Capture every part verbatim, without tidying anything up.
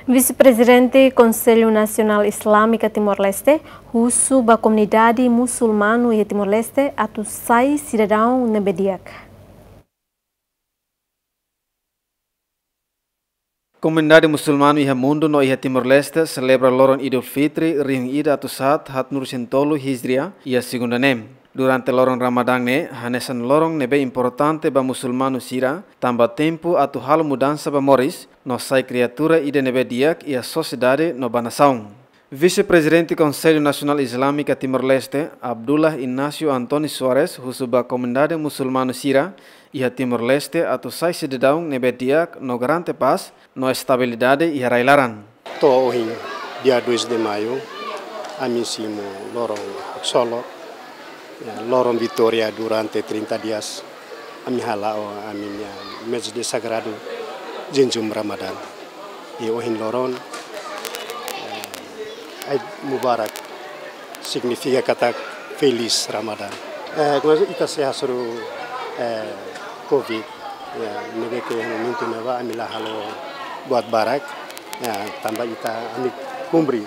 Vise-Prezidente Konsellu Nasionál Islamiku Timor-Leste husu ba komunidade musulmanu iha Timor-Leste atu sai sidadaun ne'ebé di'ak. Komunidade musulmanu iha mundu no iha Timor-Leste selebra loron Idul Fitri rihun ida atus haat haatnulu resin tolu Hijria iha segunda ne'e. Durante loron Ramadán ne'e hanesan loron ne'ebé importante ba musulmanu sira, tanba tempu atu halo mudansa ba moris, no sai kriatura ida ne'ebé di'ak iha sosiedade no ba nasaun. Vise-Prezidente Konsellu Nasionál Islamiku Timor-Leste, Abdullah Inácio António Soares, husu ba komunidade musulmanu sira iha Timor-Leste atu sai sidadaun ne'ebé di'ak no garante pás no estabilidade iha rai-laran. To'o ohin, dia dois de maio, ami simu loron haksolok, ya, loron vitória durante trinta dias. Ami hala'o ami-nia mezde sagradu jejún Ramadán. I ohin loron, eh, Eid Mubarak, signifika katak Feliz Ramadán. Eh, kemarin ita sei hasoru, eh, covid, ya, ne'ebé ke momentu ne'ebá ami la halo buat barak, ya, tanba ita ami kumpre,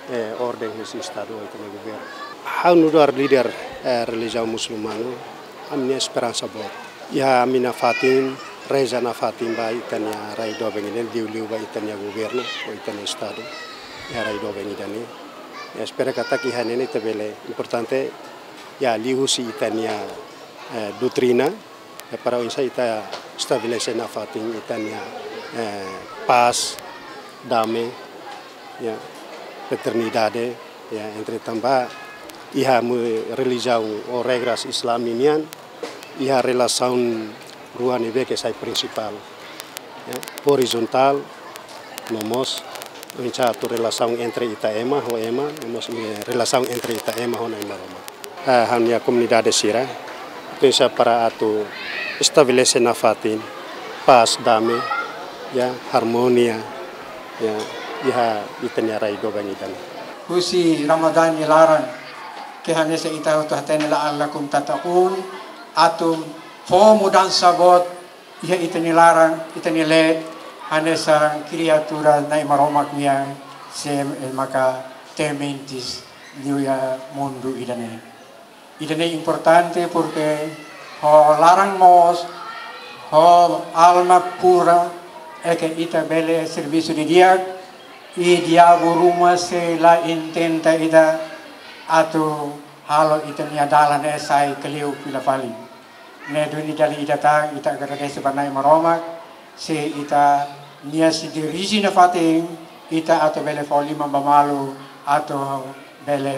eh, orden husi Estadu, ita-nia governu. Ha'u nu'udar líder, eh, relijiaun musulmanu, ami-nia esperansa boot. Ya, ami nafatin, reza nafatin ba ita-nia rai doben ida-ne'e, liuliu ba ita-nia governu, ou ita-nia Estadu, iha rai doben ida-ne'e. Ya, espera katak iha ne'e ita bele, importante, ya, liuhusi ita-nia, eh, doutrina, ya, para oinsá ita estabelese nafatin ita-nia, eh, pás, dame, ya, fraternidade, ya, entre tanba iha mu-, relijiaun ou regras Islam nian, iha relasaun rua ne'ebé ke sai prinsipál, ya, orizontál, no mós, oinsá atu relasaun entre ita ema ho ema, no mós, eh, relasaun entre ita ema ho Na'i Maromak. Eh, ha'u-nia komunidade sira, pensa para atu estabelese nafatin, pás, dame, ya, harmonia, ya, iha ita-nia rai doben ida-ne'e. Husi Ramadán nia laran, ke hanesan ita hotu hatene la'allakum tattaqun, atu fó mudansa boot iha ita-nia laran, ita-nia leet, hanesan kriatura Na'i Maromak nian, sé maka tementes liu iha mundu ida-ne'e. Ida-ne'e importante porque ho laran moos, ho alma pura, é ke ita bele servisu didi'ak, i diabu ruma sei la intenta ita atu halo ita-nia dalan ne'e sai kleur fila fali. Ne'e duni dala ida tan ita agradese ba Na'i Maromak, se ita-nia sei dirije nafatin, ita atu bele fó liman ba malu, atu bele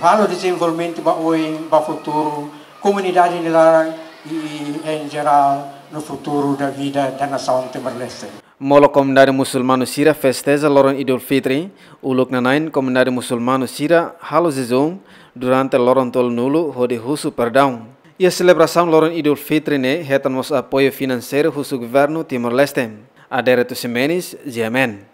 halo dezenvolvimentu ba oin, ba futuru, komunidade nia laran, i, i, em geral, no futuro da vida da nação Timor-Leste. Molok komunidade musulmanu sira festeja loron Idul Fitri, uluk nanain komunidade musulmanu sira halo jejún durante loron tolunulu hodi husu perdaun. Iha selebrasaun loron Idul Fitri ne'e hetan mós apoiu finanseiru husi governu Timor-Leste. Adérito Ximenes, G M N.